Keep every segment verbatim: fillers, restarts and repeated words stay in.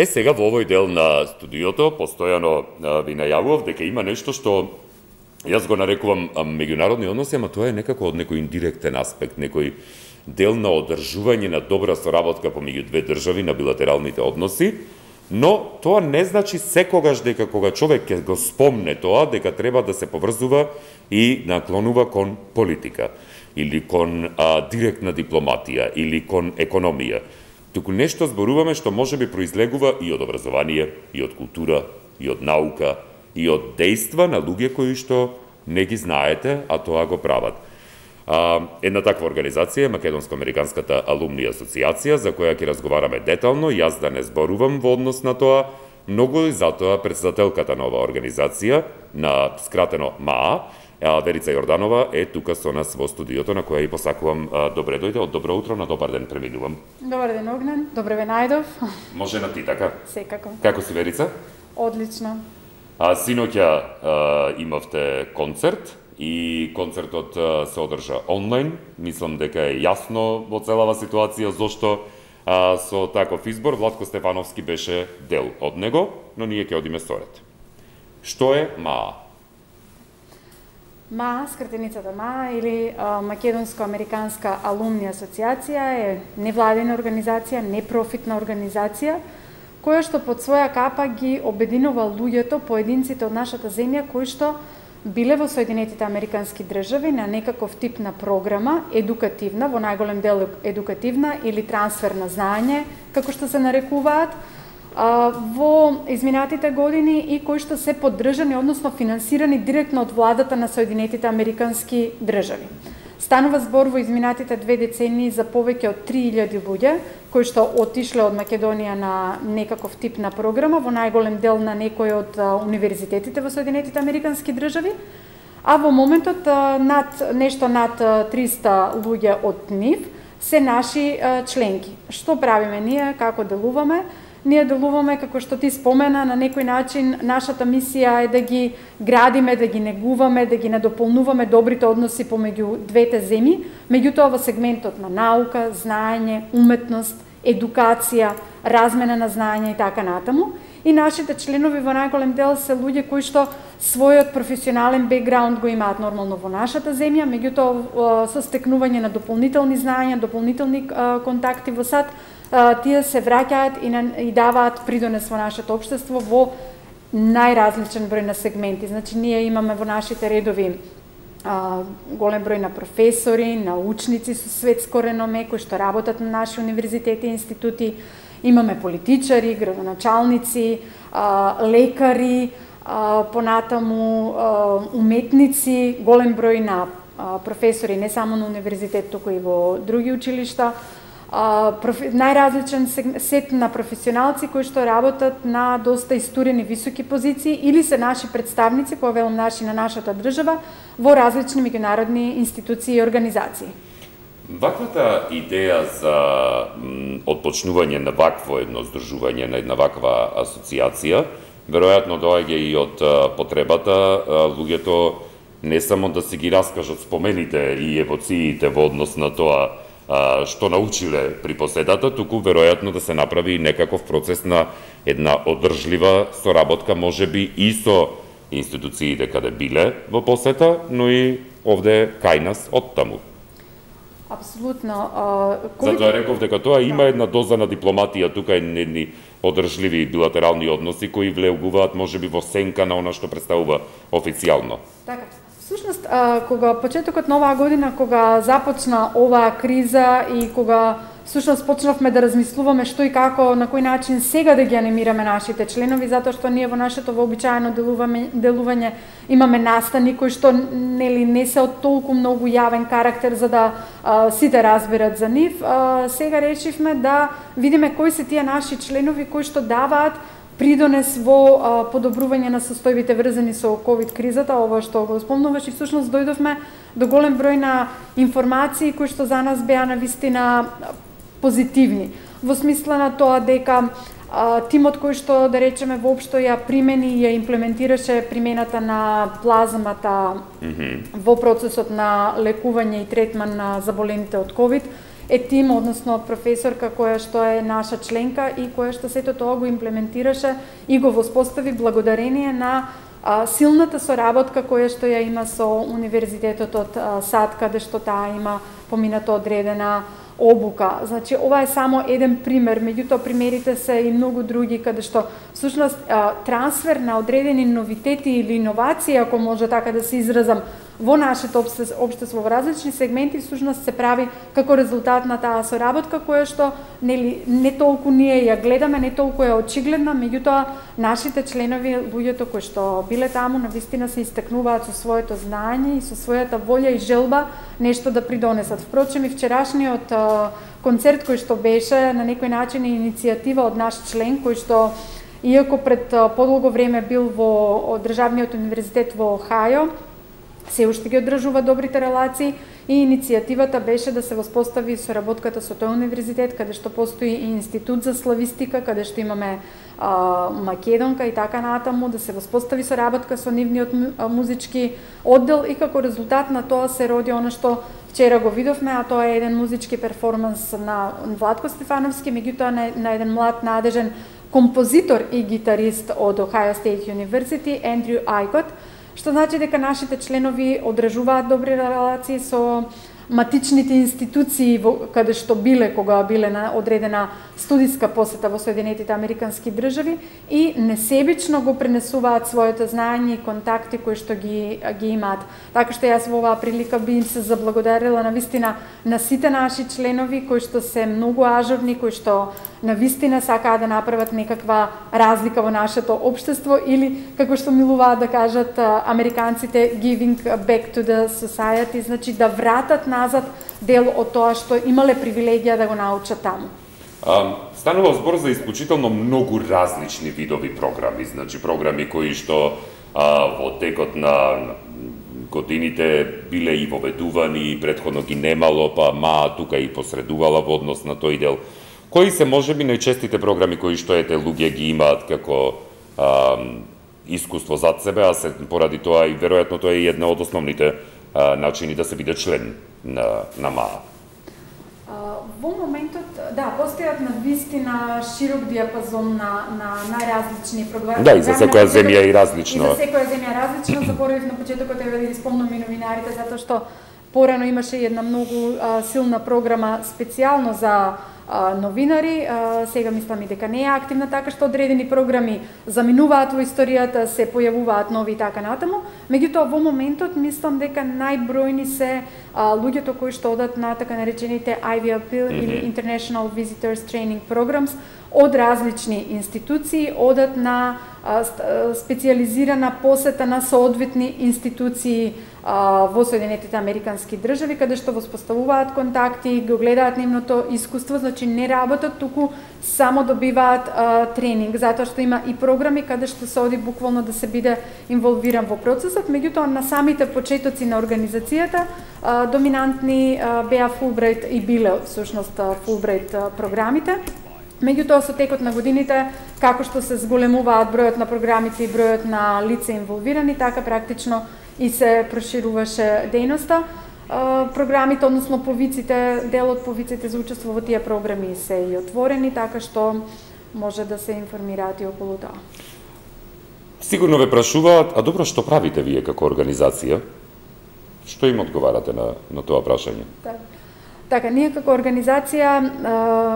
Е, сега во овој дел на студиото постојано ви најавував дека има нешто што јас го нарекувам меѓународни односи, ама тоа е некако од некој индиректен аспект, некој дел на одржување на добра соработка помеѓу две држави на билатералните односи, но тоа не значи секогаш дека кога човек ќе го спомне тоа, дека треба да се поврзува и наклонува кон политика, или кон а, директна дипломатија, или кон економија. Туку нешто зборуваме што може би произлегува и од образование, и од култура, и од наука, и од дејства на луѓе кои што не ги знаете, а тоа го прават. А, една таква организација е Македонско-американската алумни асоциација, за која ќе разговараме детално, јас да не зборувам во однос на тоа, многу и затоа председателката на оваа организација, на скратено МАА, Верица Јорданова е тука со нас во студиото, на која и посакувам добре дојде, од добро утро на добар ден преминувам. Добар ден, Огнен, добре ве најдов. Може на ти така? Секако. Како си, Верица? Одлично. А синоќа имавте концерт и концертот се одржа онлайн. Мислам дека е јасно во целава ситуација зошто а, со таков избор Владко Стефановски беше дел од него, но ние ќе одиме со ред. Што е МАА? МАА, скратеницата МАА или Македонско-американска алумни асоциација е невладина организација, непрофитна организација, која што под своја капа ги обединува луѓето, поединците од нашата земја, кои што биле во Соединетите Американски држави на некаков тип на програма, едукативна, во најголем дел едукативна или трансфер на знаење, како што се нарекуваат, во изминатите години и кои што се поддржани, односно финансирани директно од владата на Соединетите Американски држави. Станува збор во изминатите две децении за повеќе од три илјади луѓе кои што отишле од Македонија на некаков тип на програма, во најголем дел на некој од универзитетите во Соединетите Американски држави, а во моментот над нешто над триста луѓе од нив се наши членки. Што правиме ние, како делуваме? Ние делуваме, како што ти спомена, на некој начин нашата мисија е да ги градиме, да ги негуваме, да ги надополнуваме добрите односи помеѓу двете земји, меѓутоа во сегментот на наука, знаење, уметност, едукација, размена на знаење и така натаму. И нашите членови во најголем дел се луѓе кои што својот професионален бекграунд го имаат нормално во нашата земја, меѓутоа со стекнување на дополнителни знаења, дополнителни контакти во САД, тие се враќаат и, на, и даваат придонес во нашето општество во најразличен број на сегменти. Значи, ние имаме во нашите редови а, голем број на професори, научници со светско реноме, кои што работат на наши универзитети и институти, имаме политичари, градоначалници, а, лекари, а, понатаму а, уметници, голем број на а, професори не само на универзитет, туку и во други училишта, профи... најразличен сет на професионалци кои што работат на доста истурени високи позиции или се наши представници, кога велам наши на нашата држава, во различни меѓународни институции и организации. Ваквата идеја за отпочнување на вакво едно здружување, на една ваква асоциација, веројатно доаѓа и од потребата луѓето не само да си ги раскажат спомените и евоциите во однос на тоа што научиле при поседата, туку веројатно да се направи некаков процес на една одржлива соработка, можеби и со институциите каде биле во посета, но и овде кај нас оттаму. Апсолутно. Кој... Затоа реков дека тоа има една доза на дипломатија, тука едни одржливи билатерални односи кои влегуваат можеби во сенка на она што представува официјално. Така. Всушност, кога почетокот на оваа година, кога започна оваа криза и кога всушност почнавме да размислуваме што и како, на кој начин сега да ги анимираме нашите членови, затоа што ние во нашето вообичаено делување, делување имаме настани кои што нели не се од толку многу јавен карактер за да а, сите разберат за нив. А, сега решивме да видиме кои се тие наши членови кои што даваат придонес во а, подобрување на состојбите врзани со ковид кризата, ова што го спомнуваш, и всушност дојдовме до голем број на информации кои што за нас беа навистина позитивни. Во смисла на тоа дека а, тимот кој што, да речеме, воопшто ја примени и ја имплементираше примената на плазмата mm-hmm. во процесот на лекување и третман на заболените од ковид, е тим, односно професорка која што е наша членка и која што сето тоа го имплементираше и го воспостави благодарение на а, силната соработка која што ја има со Универзитетот од а, САД, каде што таа има помината одредена обука. Значи, ова е само еден пример, меѓутоа примерите се и многу други, каде што всушност трансфер на одредени новитети или иновации, ако може така да се изразам, во нашето општество во различни сегменти всушност се прави како резултат на таа соработка која што нели не толку ние ја гледаме, не толку е очигледна, меѓутоа нашите членови, луѓето кои што биле таму, навистина се истакнуваат со своето знаење и со својата волја и желба нешто да придонесат. Впрочем, и вчерашниот а, концерт кој што беше на некој начин е иницијатива од наш член кој што иако пред а, подолго време бил во Државниот универзитет во Охајо, се уште ги одржува добрите релации и иницијативата беше да се воспостави соработката со тој универзитет, каде што постои и институт за славистика, каде што имаме а, македонка и така натаму, да се воспостави соработка со нивниот музички оддел и како резултат на тоа се роди она што вчера го видовме, а тоа е еден музички перформанс на Владко Стефановски, меѓутоа на, на еден млад надежен композитор и гитарист од Ohio State University, Андрю Айкот, што значи дека нашите членови одржуваат добри релации со матичните институции во, каде што биле кога биле на одредена студиска посета во Соединетите Американски држави и несебично го пренесуваат своето знаење и контакти кои што ги ги имаат. Така што јас во оваа прилика би им се заблагодарила навистина на сите наши членови кои што се многу ажурни, кои што навистина сакаат да направат некаква разлика во нашето општество или како што милуваат да кажат американците giving back to the society, значи да вратат назад дел од тоа што имале привилегија да го научат таму. А, станува збор за исклучително многу различни видови програми, значи програми кои што а, во текот на годините биле и воведувани и претходно ги немало, па ма тука и посредувала во однос на тој дел. Кои се можеби најчестите програми кои што ете луѓе ги имаат како а, искуство зад себе, а се поради тоа и веројатно тоа е една од основните а, начини да се биде член на, на МАА? Во моментот, да, постојат на вистина широк диапазон на, на најразлични програми. Да, и за секоја земја и различно. И за секоја земја различно. Заборавив на почетокот да ви спомнам и новинарите, затоа што порано имаше една многу а, силна програма специјално за а, новинари, а, сега мислам и дека не е активна, така што одредени програми заминуваат во историјата, се појавуваат нови и така натаму. Меѓутоа во моментот мислам дека најбројни се а, луѓето кои што одат на така наречените I V L P mm-hmm. или International Visitors Training Programs од различни институции, одат на а, специјализирана посета на соодветни институции а, во Соединетите Американски држави, каде што воспоставуваат контакти, го гледаат нивното искуство, значи не работат, туку само добиваат а, тренинг, затоа што има и програми каде што се оди буквално да се биде инволвиран во процесот, меѓутоа на самите почетоци на организацијата а, доминантни а, беа Фулбрайт и биле всушност Фулбрайт програмите. Меѓутоа со текот на годините, како што се зголемуваат бројот на програмите и бројот на лица инволвирани, така практично и се прошируваше дејноста. Програмите, односно повиците, дел од повиците за учество во тие програми се и отворени, така што може да се информираат и околу тоа. Сигурно ве прашуваат, а добро, што правите вие како организација? Што им одговарате на, на тоа прашање? Да. Така, ние како организација,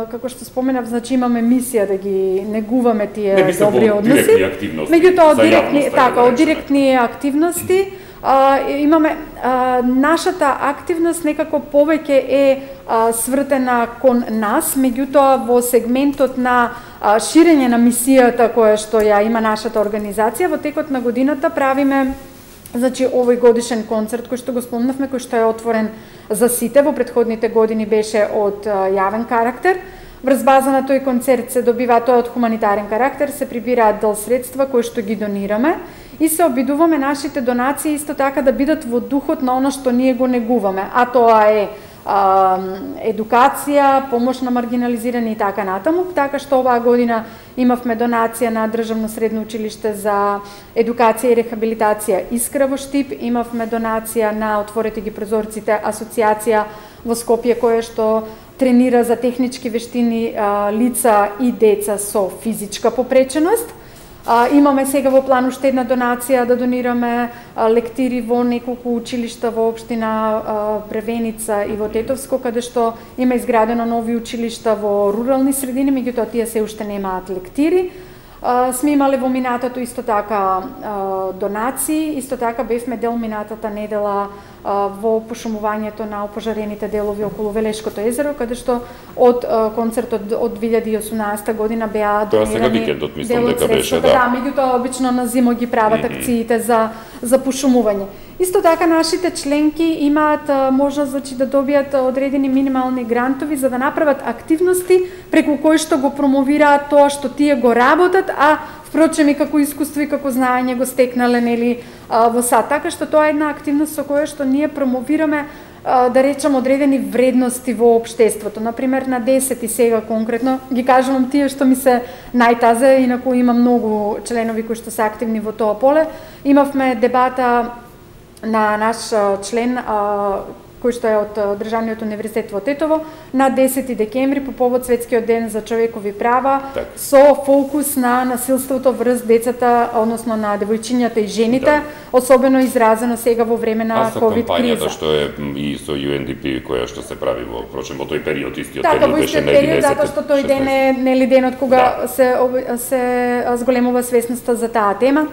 како што споменав, значи имаме мисија да ги негуваме тие не, мислам, добри односи. Директни активности. Меѓутоа, од директни, така, од директни активности, а, имаме а, нашата активност некако повеќе е а, свртена кон нас, меѓутоа во сегментот на а, ширење на мисијата која што ја има нашата организација, во текот на годината правиме значи овој годишен концерт кој што го спомнавме, кој што е отворен за сите, во претходните години беше од а, јавен карактер. Врз база на тој концерт се добива, тоа од хуманитарен карактер, се прибираат дел средства кои што ги донираме и се обидуваме нашите донации исто така да бидат во духот на она што ние го негуваме, а тоа е а, едукација, помош на маргинализирани и така натаму, така што оваа година имавме донација на Државно средно училиште за едукација и рехабилитација Искра во Штип, имавме донација на Отворете ги прозорците асоциација во Скопје, која што тренира за технички вештини лица и деца со физичка попреченост. А, имаме сега во план уште една донација да донираме а, лектири во неколку училишта во општина а, Бревеница и во Тетовско, каде што има изградено нови училишта во рурални средини, меѓутоа тие се уште немаат лектири. Uh, сме имале во минатото исто така uh, донации, исто така бевме дел минатата недела uh, во пошумувањето на опожарените делови околу Велешкото езеро, каде што од uh, концертот од две илјади и осумнаесета година беа донирани. Тоа сега викендот мислам дека беше, да. Да, меѓутоа обично на зимо ги прават mm -hmm. акциите за за пошумување. Исто така нашите членки имаат uh, можност значи да добијат одредени минимални грантови за да направат активности преку кои што го промовираат тоа што тие го работат, а впрочем и како искуство и како знаење го стекнале нели во САД. Така што тоа е една активност со која што ние промовираме да речам одредени вредности во општеството. Например на десети сега конкретно ги кажувам тие што ми се најтазе, инаку има многу членови кои што се активни во тоа поле. Имавме дебата на наш член кој што е од Државниот универзитет во Тетово на десети декември по повод Светскиот ден за човекови права, так, со фокус на насилството врз децата, односно на девојчињата и жените, да, особено изразено сега во време на ковид криза. А со кампањата што е и со Ю Ен Ди Пи која што се прави во прочем во тој период, истиот така, период беше на единесет, затоа што тој ден е нели денот кога да. се се зголемува свесноста за таа тема.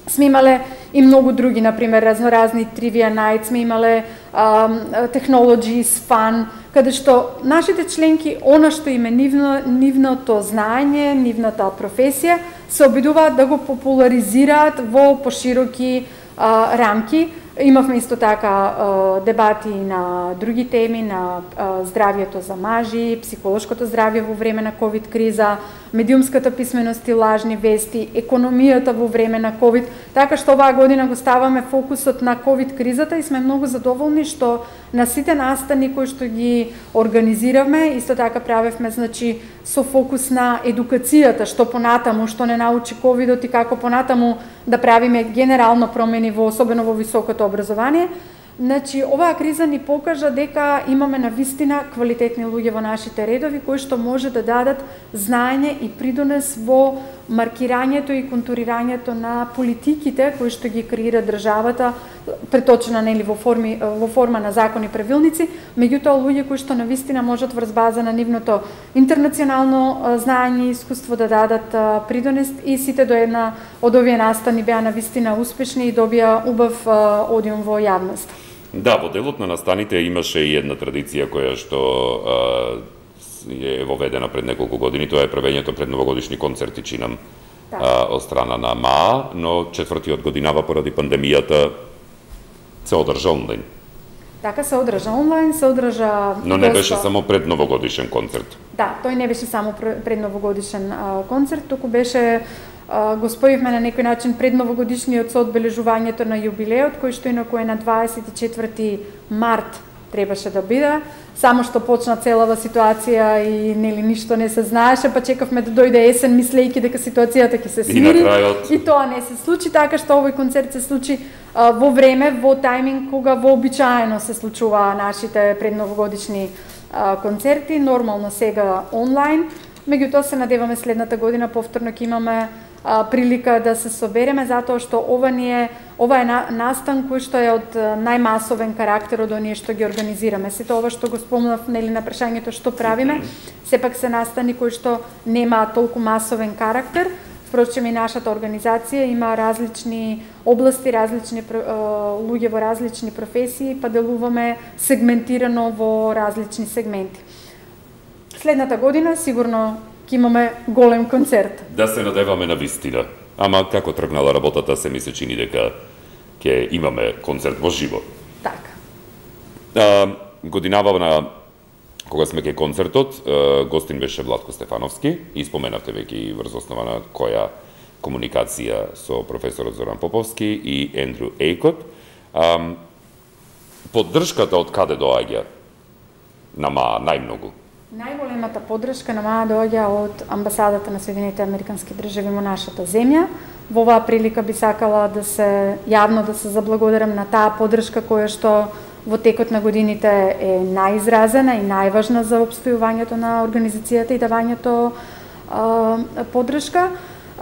Сме имале и многу други, например, разноразни Trivia Night, сме имале um, Technologies, Fun, каде што нашите членки, она што им е нивно, нивното знаење, нивната професија, се обидуваат да го популаризираат во пошироки uh, рамки. Имавме исто така uh, дебати на други теми, на uh, здравјето за мажи, психолошкото здравје во време на ковид криза, медиумската писменост и лажни вести, економијата во време на ковид, така што оваа година го ставаме фокусот на ковид кризата и сме многу задоволни што на сите настани кои што ги организиравме, исто така правевме значи со фокус на едукацијата, што понатаму, што не научи ковидот и како понатаму да правиме генерално промени во особено во високото образование. Значи, оваа криза ни покажа дека имаме навистина квалитетни луѓе во нашите редови кои што може да дадат знаење и придонес во маркирањето и контурирањето на политиките кои што ги креира државата, преточена нели во форми во форма на закони и правилници, меѓутоа луѓе кои што навистина можат врз база на нивното интернационално знаење и искуство да дадат придонес и сите до една од овие настани беа навистина успешни и добија убав одиум во јавност. Да, во делот на настаните имаше и една традиција која што а, е воведена пред неколку години, тоа е правењето пред новогодишни концерти, чинам, да, а, од страна на МА, но четвртиот годинава поради пандемијата се одржа онлайн. Така се одржа онлайн, се одржа... Но не доста... беше само пред новогодишен концерт. Да, тој не беше само пред новогодишен а, концерт, туку беше... Uh, го спојивме на некој начин пред новогодишниот со одбележувањето на јубилеот, кој што инаку е на дваесет и четврти март требаше да биде, само што почна целава ситуација и нели ништо не се знаеше, па чекавме да дојде есен мислејќи дека ситуацијата ќе се смири. И на крајот... И тоа не се случи, така што овој концерт се случи uh, во време, во тајминг кога вообичаено се случуваа нашите предновогодишни uh, концерти, нормално сега онлайн. Меѓутоа се надеваме следната година повторно ќе имаме а, прилика да се собереме, затоа што ова ни е ова е на, настан кој што е од најмасовен карактер од оние што ги организираме. Сето ова што го спомнав нели на прашањето што правиме, сепак се настани кои што нема толку масовен карактер. Впрочем и нашата организација има различни области, различни луѓе во различни професии, па делуваме сегментирано во различни сегменти. Следната година сигурно ќе имаме голем концерт. Да се надеваме на вистина. Ама како тргнала работата, се ми се чини дека ќе имаме концерт во живо. Така. А, годинава на кога сме кај концертот, гостин беше Владко Стефановски и споменавте веќе и врз основа на која комуникација со професорот Зоран Поповски и Ендрю Ейкот. А, поддршката од каде доаѓа на МА најмногу? Најголемата поддршка на МА доаѓа од амбасадата на Соединените Американски држави во нашата земја. Во оваа прилика би сакала да се јавно да се заблагодарам на таа поддршка која што во текот на годините е најизразена и најважна за опстојувањето на организацијата и давањето а, поддршка.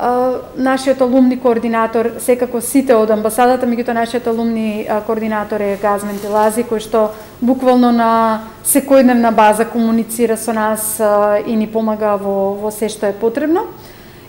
Uh, нашиот алумни координатор, секако сите од амбасадата, меѓутоа нашиот алумни uh, координатор е Газмен Телази, кој што буквално на секојдневна база комуницира со нас uh, и ни помага во, во се што е потребно.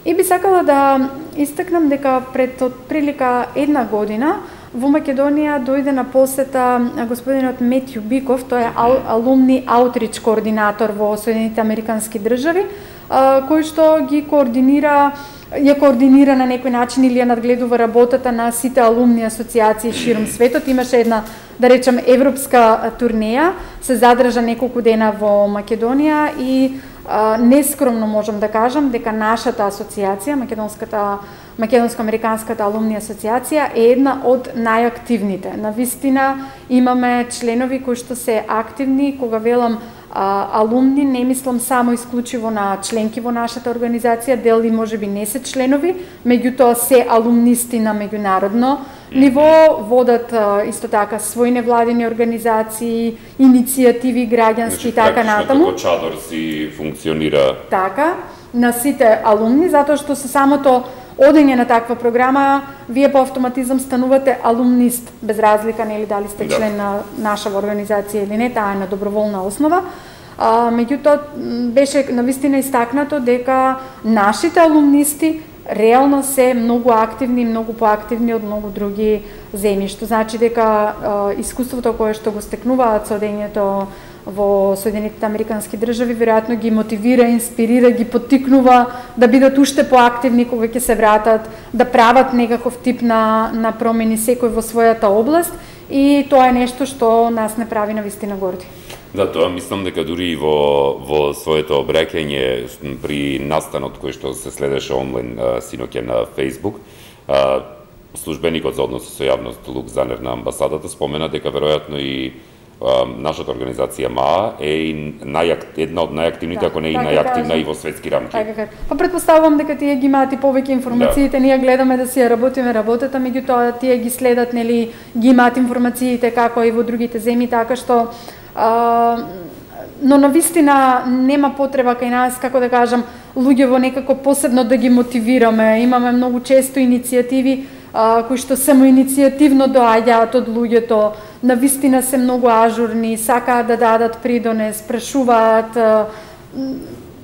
И би сакала да истакнам дека пред отприлика една година во Македонија дојде на посета господинот Метју Биков, тој е ал, алумни аутрич координатор во Соединените Американски држави, uh, кој што ги координира ја координира на некој начин или ја надгледува работата на сите алумни асоциации широм светот. Имаше една, да речем, европска турнеја, се задржа неколку дена во Македонија и а, нескромно можам да кажам дека нашата асоциација, Македонската Македонско-американската алумни асоциација е една од најактивните. Навистина имаме членови кои што се активни, кога велам А, алумни, не мислам само исклучиво на членки во нашата организација, дел и можеби не се членови, меѓутоа се алумнисти на меѓународно ниво, водат а, исто така своји невладини организации, иницијативи граѓански и така натаму. Како чадор си функционира. Така, на сите алумни, затоа што со самото одење на таква програма, вие по автоматизам станувате алумнист, без разлика нели дали сте член да. на нашава организација или не, таа е на доброволна основа. А, меѓутоа беше навистина истакнато дека нашите алумнисти реално се многу активни, многу поактивни од многу други земји, што значи дека а, искуството кое што го стекнуваат со одењето во Соединетите Американски држави веројатно ги мотивира, инспирира, ги поттикнува да бидат уште поактивни кога ќе се вратат, да прават некаков тип на на промени секој во својата област, и тоа е нешто што нас не прави навистина горди. Да, тоа мислам дека дури и во во своето обраќање при настанот кој што се следеше онлайн синоќа на Facebook, службеникот за односи со јавност Лук Занер на амбасадата спомена дека веројатно и нашата организација МАА е и најак, една од најактивните, да, ако не и најактивна и во светски рамки. Така, па претпоставувам дека тие ги имаат и повеќе информациите, да. Ние гледаме да си ја работиме работата, меѓутоа тие ги следат, нели, ги имаат информациите како и во другите земји, така што а, но навистина нема потреба кај нас, како да кажам, луѓево некако посебно да ги мотивираме. Имаме многу често иницијативи а, кои што само иницијативно доаѓаат од луѓето, навистина се многу ажурни, сакаат да дадат придонес, прашуваат.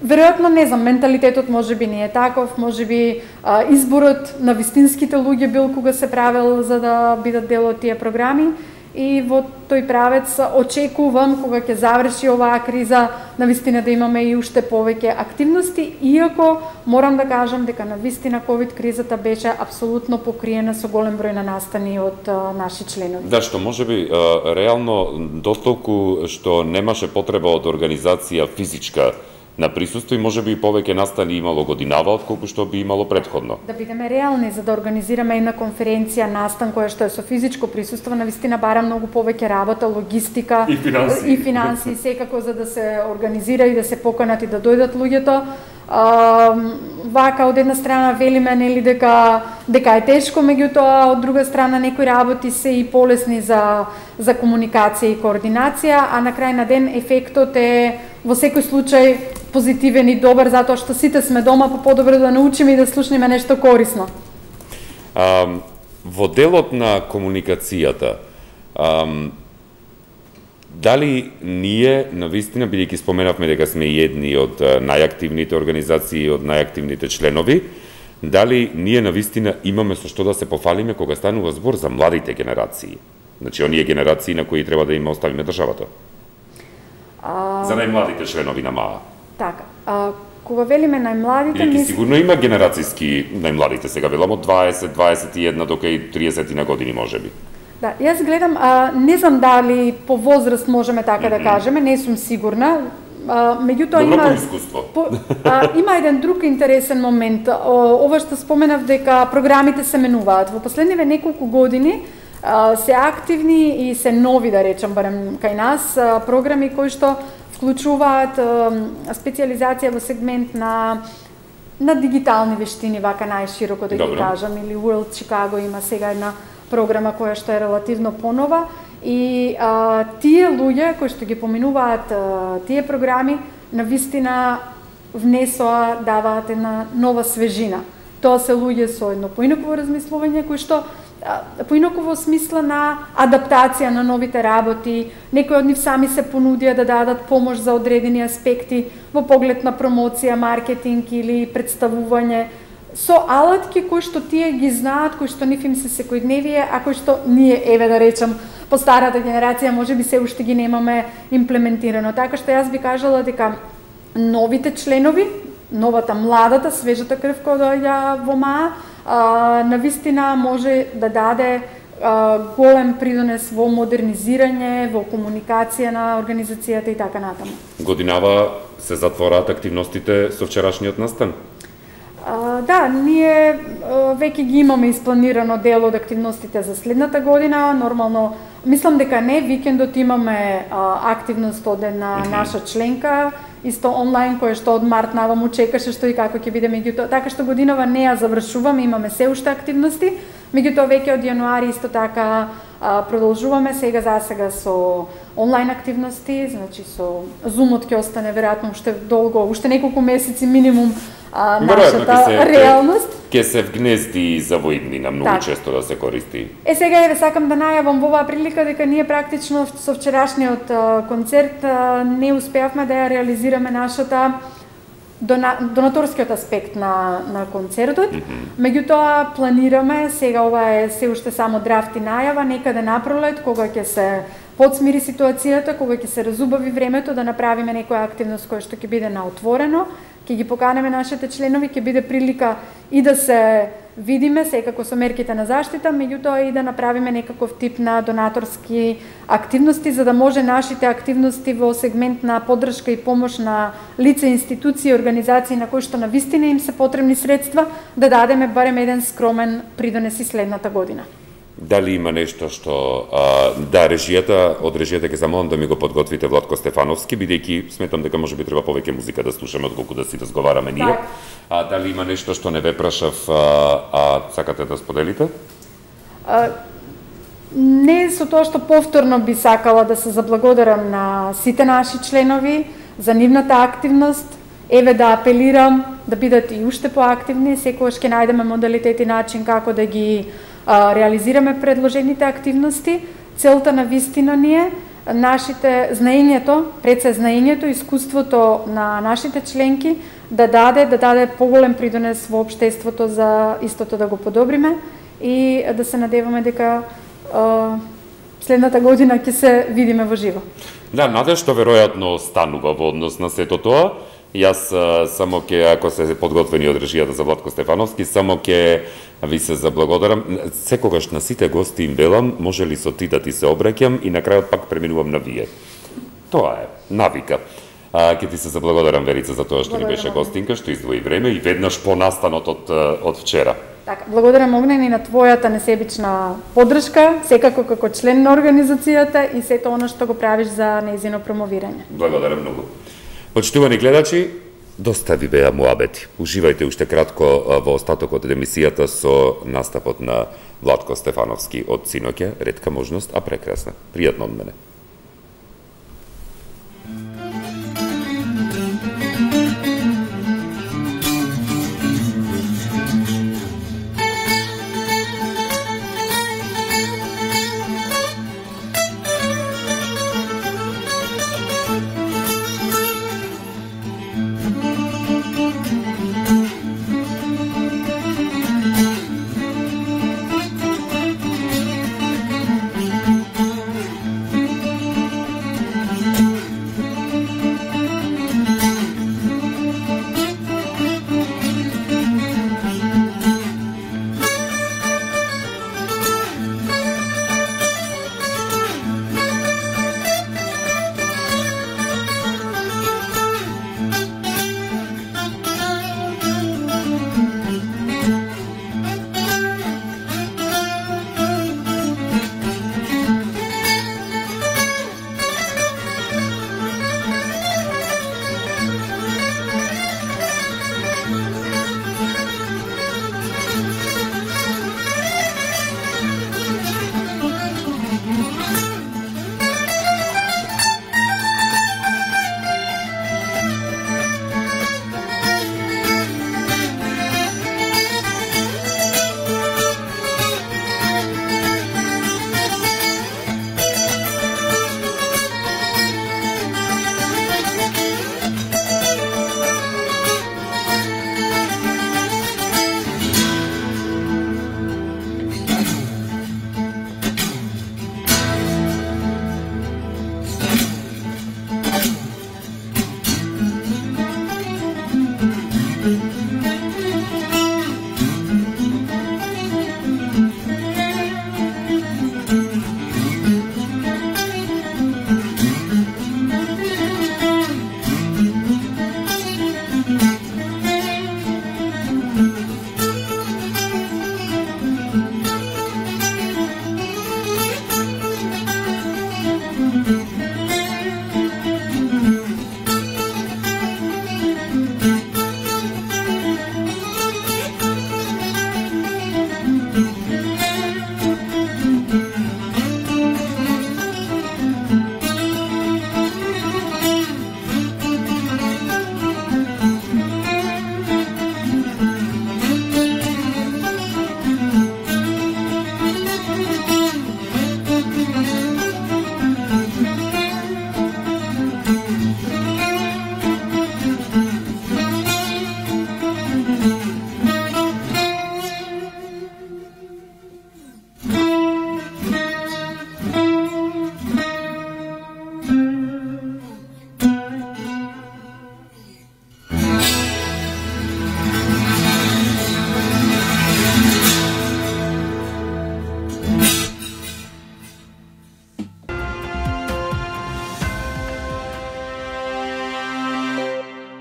Веројатно, не знам, менталитетот можеби не е таков, можеби а, изборот на вистинските луѓе бил кога се правел за да бидат дел од тие програми. И во тој правец очекувам кога ќе заврши оваа криза навистина да имаме и уште повеќе активности, иако морам да кажам дека навистина ковид кризата беше апсолутно покриена со голем број на настани од а, наши членови. Да, што можеби а, реално дотолку што немаше потреба од организација физичка на присуство и можеби и повеќе настани имало годинава отколку што би имало претходно. Да бидеме реални, за да организираме една конференција, настан која што е со физичко присуство, навистина бара многу повеќе работа, логистика и финанси, и финанси секако за да се организира и да се поканат и да дојдат луѓето. А, вака од една страна велиме нели дека дека е тешко, меѓутоа од друга страна некои работи се и полесни за за комуникација и координација, а на крај на ден ефектот е во секој случај позитивен и добар, затоа што сите сме дома, па подобро да научиме и да слушнеме нешто корисно. А, во делот на комуникацијата, а, дали ние, навистина, бидејќи споменавме дека сме и едни од најактивните организации, од најактивните членови, дали ние навистина имаме со што да се пофалиме кога станува збор за младите генерации? Значи, оние генерации на кои треба да им оставиме државата? А... За најмладите членови на МАА. Така, а, кога велиме најмладите... Или мис... сигурно има генерацијски најмладите, сега велам од дваесет, дваесет и една до кај триесет на години можеби. Да, јас гледам, а, не знам дали по возраст можеме така mm-hmm. да кажеме, не сум сигурна. А, меѓутоа Добро има по искуство. По, а, има еден друг интересен момент. О, ова што споменав дека програмите се менуваат. Во последниве неколку години а, се активни и се нови, да речам, барем кај нас, а, програми кои што вклучуваат специализација во сегмент на на дигитални вештини, вака најшироко да ги кажам, или World Chicago има сега една програма која што е релативно понова и а, тие луѓе кои што ги поминуваат а, тие програми навистина внесоа, даваат една нова свежина. Тоа се луѓе со едно поинаково размислување кои што поинаково смисла на адаптација на новите работи, некои од нив сами се понудија да дадат помош за одредени аспекти во поглед на промоција, маркетинг или представување со алатки кои што тие ги знаат, кои што нив им се секојдневие, а кои што ние, еве да речем, по старата генерација можеби се уште ги немаме имплементирано. Така што јас би кажала дека новите членови, новата младата, свежата крв која доаѓа во МАА, навистина може да даде а, голем придонес во модернизирање, во комуникација на организацијата и така натаму. Годинава се затвораат активностите со вчерашниот настан? А, да, ние а, веќе ги имаме испланирано дел од активностите за следната година. Нормално, мислам дека не, викендот имаме а, активност од една mm-hmm. наша членка, исто онлайн, која што од март наваму чекаше што и како ќе биде, меѓутоа, така што годинава не ја завршуваме, имаме се уште активности, меѓутоа веќе од јануари исто така а, продолжуваме сега за сега со онлайн активности, значи со Зумот ќе остане веројатно уште долго, уште неколку месеци минимум а, нашата се, реалност. Ке се вгнезди за воиднина, многу так. често да се користи. Е, сега еве сакам да најавам во оваа прилика дека ние практично со вчерашниот а, концерт а, не успеавме да ја реализираме нашата дона, донаторскиот аспект на, на концертот. Mm -hmm. Меѓутоа планираме, сега ова е се уште само драфт и најава, некаде напролет, кога ќе се подсмири ситуацијата, кога ќе се разубави времето, да направиме некоја активност која што ќе биде на отворено, ќе ги поканеме нашите членови, ќе биде прилика и да се видиме секако со мерките на заштита, меѓутоа и да направиме некаков тип на донаторски активности, за да може нашите активности во сегмент на поддршка и помош на лица, институции, организации на кои што навистина им се потребни средства, да дадеме барем еден скромен придонес и следната година. Дали има нешто што а, да режијата, од режијата ќе замолам да ми го подготвите Владко Стефановски, бидејќи сметам дека можеби треба повеќе музика да слушаме отколку да си разговараме ние. Так. А дали има нешто што не ве прашав, а, а сакате да споделите? А, не со тоа што повторно би сакала да се заблагодарам на сите наши членови за нивната активност. Еве да апелирам да бидат и уште поактивни, секогаш ќе најдеме модалитет и начин како да ги а, реализираме предложените активности. Целта на вистина ни е нашите знаењето, пред се знаењето, искуството на нашите членки да даде да даде поголем придонес во општеството за истото да го подобриме и да се надеваме дека а, следната година ќе се видиме во живо. Да, наде што веројатно станува во однос на сето тоа. Јас а, само ќе, ако се подготвени од режијата за Владко Стефановски, само ќе ви се заблагодарам. Секогаш на сите гости им велам, може ли со ти да ти се обраќам и на крајот пак преминувам на вие. Тоа е навика. А, ќе ти се заблагодарам, Верица, за тоа што ни беше гостинка, што издвои време и веднаш по настанот од, од вчера. Така, благодарам Огнен и на твојата несебична поддршка, секако како член на организацијата и сето она што го правиш за нејзино промовирање. Благодарам многу. Почитувани гледачи, доста ви беа муабети. Уживајте уште кратко во остатокот од емисијата со настапот на Владко Стефановски од синоќа, ретка можност, а прекрасна. Пријатно од мене.